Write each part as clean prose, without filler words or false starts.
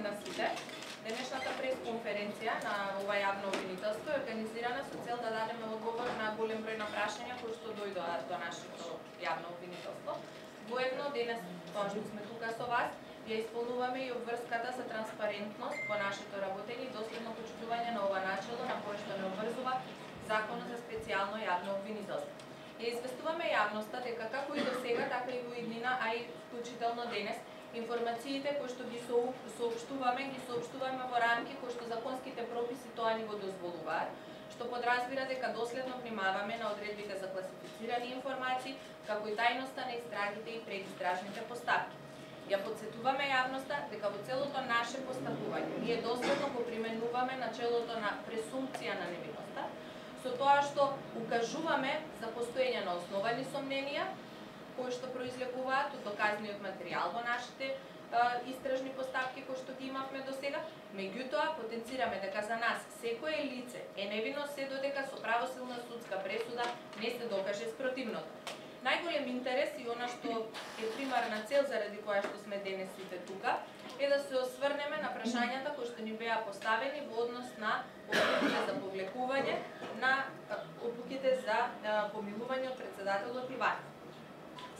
на сите. Денешната пресконференција на ова јавно обвинителство е организирана со цел да дадеме одговор на голем број на прашања кои што дојдоа до нашето јавно обвинителство. Воедно денес, тоа што сме тука со вас, ја исполнуваме и обврската за транспарентност во нашето работење и доследно почитување на ова начело на кое што не обврзува Законот за специјално јавно обвинителство. Ја известуваме јавноста дека како и до сега, така и во иднина, а и вклучително денес, информациите кои што ги соопштуваме во рамки кои што законските прописи тоа ни го дозволуваат, што подразбира дека доследно внимаваме на одредбите за класифицирани информации, како и тајноста на истрагите и предистражните постапки. Ја подсетуваме јавноста дека во целото наше постапување ние доследно го применуваме начелото на пресумпција на невиноста, со тоа што укажуваме за постоење на основани сомненија, кои што произлегуваат од доказниот материјал во нашите истражни постапки кои што ги имавме до сега, меѓутоа потенцираме дека за нас секое лице е невино се додека со правосилна судска пресуда не се докаже спротивното. Најголем интерес и она што е примарна цел заради која што сме денес сите тука, е да се осврнеме на прашањата кои што ни беа поставени во однос на одлуките за повлекување, на одлуките за помилување од председателот Иванов.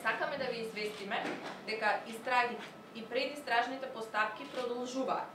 Сакаме да ви известиме дека истрагите и предистражните постапки продолжуваат.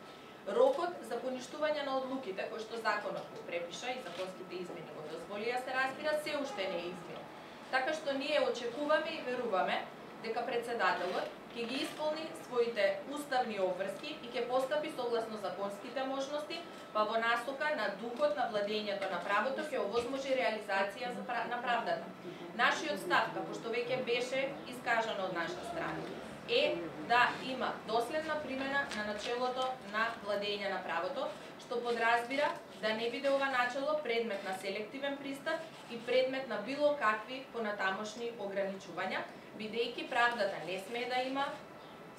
Рокот за поништување на одлуките кои што законот го препиша и законските измени го дозволија се разбира се уште не е изменет. Така што ние очекуваме и веруваме дека председателот ќе ги исполни своите уставни обврски и ќе постапи согласно законските можности, па во насока на духот на владењето на правото ќе овозможи реализација на правдата. Нашиот став, како што веќе беше искажано од наша страна, е да има доследна примена на начелото на владење на правото, што подразбира да не биде ова начело предмет на селективен пристап и предмет на било какви понатамошни ограничувања, бидејќи правдата не смее да има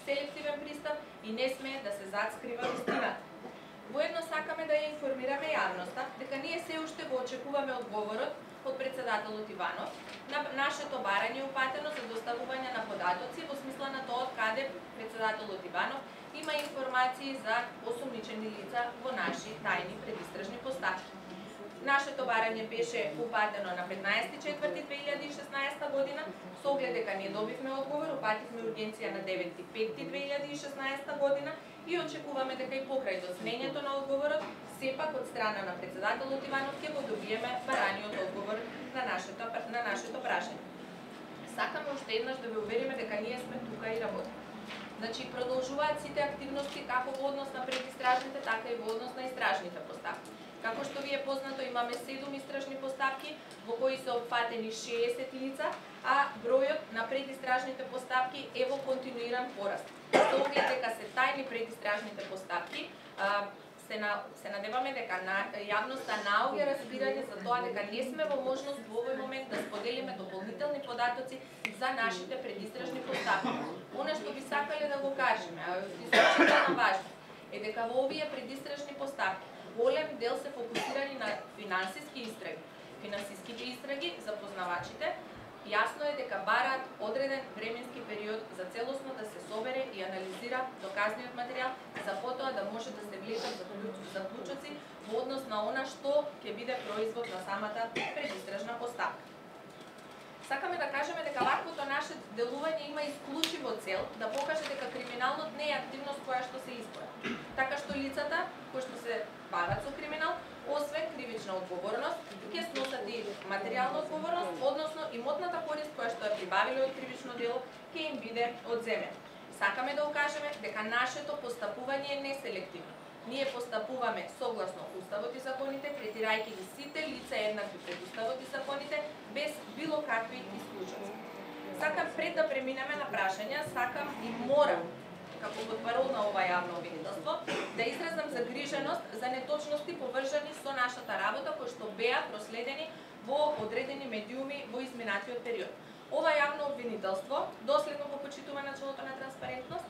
селективен пристап и не смее да се зацкрива вистината. Воедно сакаме да ја информираме јавноста дека ние се уште го очекуваме одговорот од председателот Иванов на нашето барање упатено за доставување на податоци во смисла на тоа каде председателот Иванов има информации за осомничени лица во наши тајни предистражни постапки. Нашето барање беше упатено на 15.4.2016 година, со оглед дека не добивме одговор, упативме ургенција на 9.5.2016 година и очекуваме дека и покрај доснењето на одговорот, сепак од страна на председателот Иванов ќе го добиеме бараниот одговор на нашето прашање. Сакаме уште еднаш да ве увериме дека ние сме тука и работиме. Значи, продолжуваат сите активности како во однос на предистражните, така и во однос на истражните постапки. Како што ви е познато, имаме 7 истражни постапки во кои се опфатени 60 лица, а бројот на предистражните постапки е во континуиран пораст. Со оглед дека се тајни предистражните постапки, се надеваме дека јавноста наоѓа разбирање за тоа дека не сме во можност во овој момент да споделиме дополнителни податоци за нашите предистражни постапки. Она што би сакале да го кажеме, а исклучително важно, е дека во овие предистражни постапки голем дел се фокусирани на финансиски истраги. Финансиските истраги за познавачите јасно е дека бараат одреден временски период за целосно да се собере и анализира доказниот материјал, за потоа да може да се влезат заклучоци во однос на она што ќе биде производ на самата предистражна постапка. Сакаме да кажеме дека ваквото наше делување има исклучиво цел да покаже дека криминалот не е активност која што се избора. Така што лицата кои што се бават со криминал, освен кривична одговорност, ќе сносат и материјална одговорност, односно имотната корист која што ја прибавиле од кривично дело ќе им биде одземена. Сакаме да укажеме дека нашето постапување е неселективно. Ние постапуваме согласно Уставот и законите, третирајќи ги сите лица еднакви пред Уставот и законите, без било какви исклучоци. Сакам пред да преминеме на прашања, сакам и морам, како потпарол на ова јавно обвинителство, да изразам загриженост за неточности поврзани со нашата работа кои што беа проследени во одредени медиуми во изминатиот период. Ова јавно обвинителство доследно го почитува начелото на транспарентност,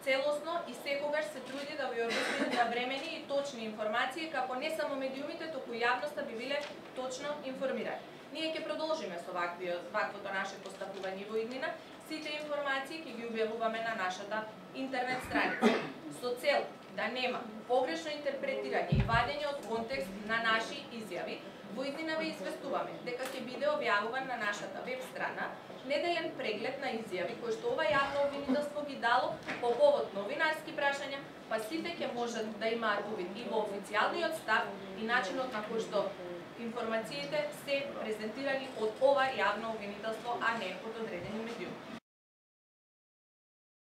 целосно и секогаш се труди да ви обезбеди навремени и точни информации, како не само медиумите, туку јавноста би биле точно информирани. Ние ќе продолжиме со ваквото наше постапување во иднина. Сите информации ќе ги објавуваме на нашата интернет страница. Со цел да да нема погрешно интерпретирање и вадење од контекст на наши изјави, во иднина ве известуваме дека ќе биде објавуван на нашата веб страна неделен преглед на изјави кои што ова јавно обвинителство ги дало по повод новинарски прашања, па сите ќе можат да имаат увид и во официјалниот став и начинот на кој што информациите се презентирани од ова јавно обвинителство, а не од одредени медиуми.